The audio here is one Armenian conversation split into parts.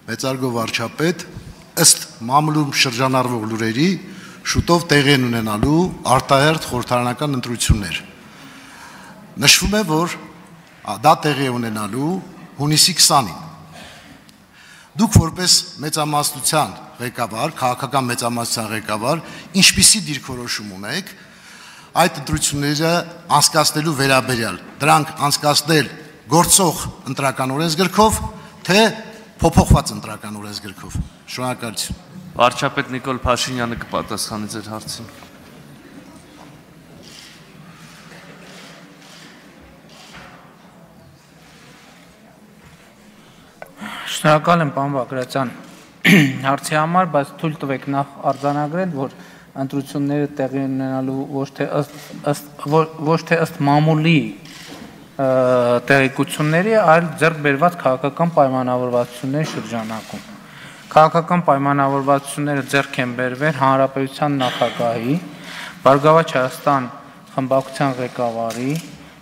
մեծարգո վարչապետ, ըստ մամուլում շրջանառվող լուրերի, շուտով տեղի են ունենալու արտահերթ խորհրդարանական ընտրություններ։ Նշվում է, որ դա տեղի է ունենալու հունիսի 20-ին։ Դուք որպես մեծամասնության ղեկավար, քաղաքական մեծամասնության ղեկավար, ինչպիսի դիրքորոշում ունեք այդ ընտրությունները անցկացնելու վերաբերյալ, դրանք անցկացնել գործող ընտրական օրենսգրքով, թե փոփոխված ընտրական օրենսգրքով։ Շնորհակալություն։ Վարչապետ Նիկոլ Փաշինյանը կպատասխանի ձեր հարցին։ Շնորհակալ եմ, պարոն Բագրատյան, հարցի համար, բայց թույլ տվեք նախ արձանագրել, որ ընտրությունները տեղի ունենալու ոչ թե ըստ մամուլի տեղեկությունների, այլ ձեռք բերված քաղաքական պայմանավորվածությունների շրջանակում։ Քաղաքական պայմանավորվածությունները ձեռք են բերվել Հանրապետության նախագահի, Բարգավաճ Հայաստան խմբակցության ղեկավարի,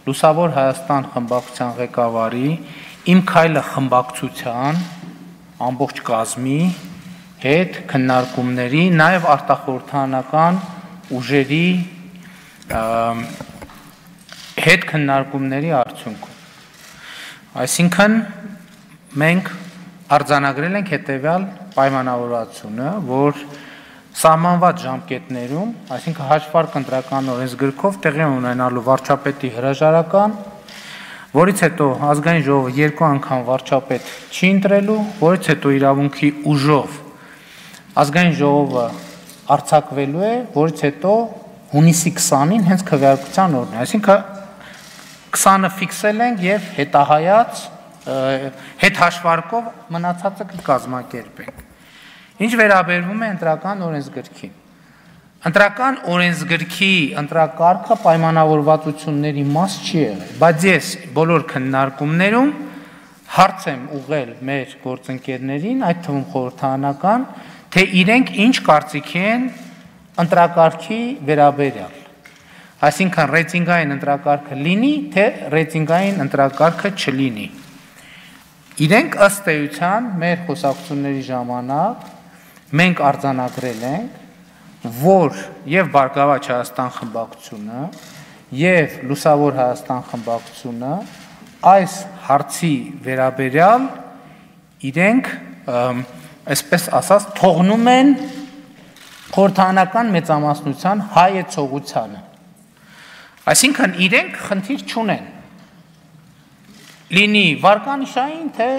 Լուսավոր Հայաստան խմբակցության ղեկավարի, Իմ քայլը խմբակցության ամբողջ կազմի հետ քննարկումների, նաև արտախորհրդարանական ուժերի հետ քննարկումների արդյունքում։ Այսինքն մենք արձանագրել ենք հետևյալ պայմանավորվածությունը, որ սահմանված ժամկետներում, այսինքն հաշվարկ ընտրական օրենսգրքով տեղի ունենալու վարչապետի հրաժարական, որից հետո ազգային ժողովը 2 անգամ վարչապետ չի ընտրելու, որից հետո իրավունքի ուժով ազգային ժողովը արձակվելու է, որից հետո հունիսի 20-ին հենց քվեարկության օրն է, այսինքն 20-ը ֆիքսել ենք եւ հետահայաց հետ հաշվարկով մնացածը կկազմակերպենք։ Ինչ վերաբերվում է ընտրական օրենսգրքին։ Ընտրական օրենսգրքի ընտրակարգը պայմանավորվածությունների մաս չի եղել, բայց ես բոլոր քննարկումներում հարց եմ ուղղել մեր գործընկերներին, այդ թվում խորհրդարանական, թե իրենք ինչ կարծիք են ընտրակարգի վերաբերյալ։ Այսինքն ռեյտինգային ընտրակարգը լինի, թե ռեյտինգային ընտրակարգը չլինի։ Իրենք ըստ էության մեր խոսակցությունների ժամանակ մենք արձանագրել ենք, որ եւ Բարգավաճ Հայաստան խմբակցությունը եւ Լուսավոր Հայաստան խմբակցությունը այս հարցի վերաբերյալ իրենք այսպես ասած թողնում են խորհրդարանական մեծամասնության հայեցողությանը։ Այսինքն իրենք խնդիր չունեն։ Լինի վարկանիշային, թե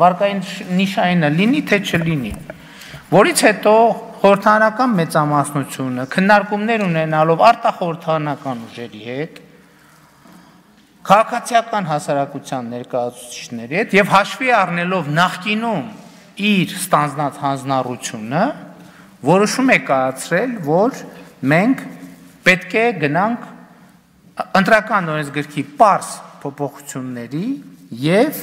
վարկանիշայինը լինի, թե չլինի։ Որից հետո խորհրդարանական մեծամասնությունը քննարկումներ ունենալով արտախորհրդարանական ուժերի հետ, քաղաքացիական հասարակության ներկայացուցիչների հետ եւ հաշվի առնելով նախկինում իր ստանձնած հանձնառությունը, որոշում է կայացրել, որ մենք պետք է գնանք ընտրական օրենսգրքի պարզ փոփոխությունների եւ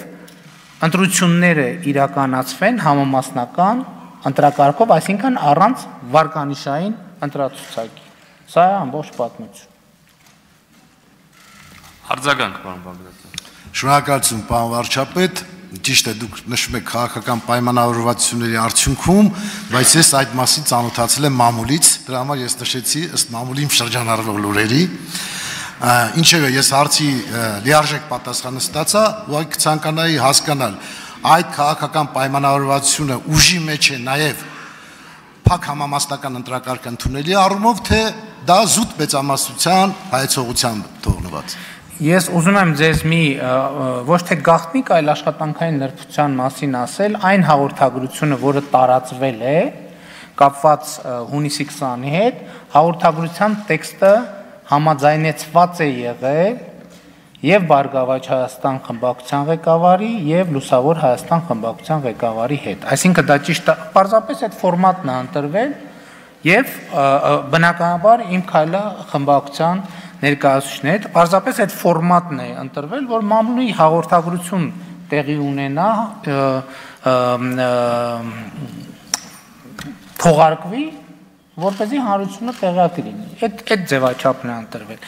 ընտրությունները իրականացվեն համամասնական ընտրակարգով, այսինքն առանց վարկանիշային ընտրացուցակի։ Սա է ամբողջ պատմություն։ Արձագանք, պարոն Բագրատյան։ Շնորհակալություն, պարոն վարչապետ, ճիշտ է, դուք նշում եք քաղաքական պայմանավորվածությունների արդյունքում, բայց ես այդ մասին ծանոթացել եմ մամուլից, դրա համար ես նշեցի ըստ մամուլի շրջանառվող լուրերի։ Ինչևէ, ես հարցի լիարժեք պատասխանը ստացա, ուղղակի կցանկանայի հասկանալ այդ քաղաքական պայմանավորվածությունը ուժի մեջ է նաև փակ համամասնական ընտրակարգ ընդունելի առումով, թե դա զուտ մեծամասնության հայեցողությամբ թողնված։ Ես ուզում եմ ձեզ մի ոչ թե գաղտնիք, այլ աշխատանքային նրբության մասին ասել, այն հաղորդագրությունը, որը տարածվել է, կապված հունիսի 20-ի հետ, հաղորդագրության տեքստը համաձայնեցված է եղել եւ Բարգավաճ Հայաստան խմբակցության ղեկավարի եւ Լուսավոր Հայաստան խմբակցության ղեկավարի հետ։ Այսինքն դա ճիշտ է, պարզապես այդ ֆորմատն է ընտրվել եւ բնականաբար Իմ քայլը խմբակցության ներկայացուցիչների հետ պարզապես այդ ֆորմատն է ընտրվել, որ մամուլի հաղորդագրություն տեղի ունենա, թողարկվի, որպեսզի հանրությունը տեղյակ լինի։ Այդ ձևաչափն է ընտրվել։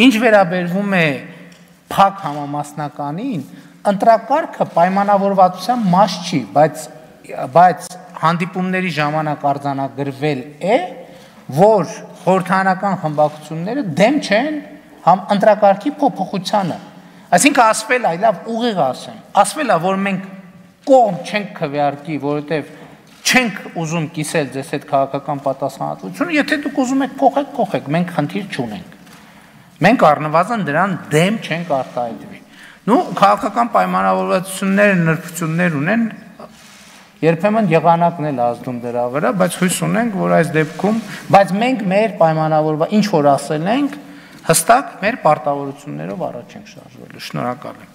Ինչ վերաբերվում է փակ համամասնականին, ընտրակարգը պայմանավորվածության մաս չի, բայց բայց հանդիպումների ժամանակ արձանագրվել է, որ խորհրդարանական խմբակցությունները դեմ չեն ընտրակարգի փոփոխությանը։ Այսինքն ասվել է, լավ ուղիղ ասեմ, ասվել է, որ մենք կողմ չենք քվեարկի, որովհետև չենք ուզում կիսել ձեզ այդ քաղաքական պատասխանատվությունը, եթե դուք ուզում եք փոխեք, մենք խնդիր չունենք։ Մենք առնվազն դրան դեմ չենք արտահայտվի։ Նու քաղաքական պայմանավորվածությունները նրբություններ ունեն, երբեմն եղանակն էլ ազդում դրա վրա, բայց հույս ունենք, որ այս դեպքում, բայց մենք մեր պայմանավորված ինչ որ ասել ենք, հստակ մեր պարտավորություններով առաջ ենք շարժվելու։ Շնորհակալ եմ։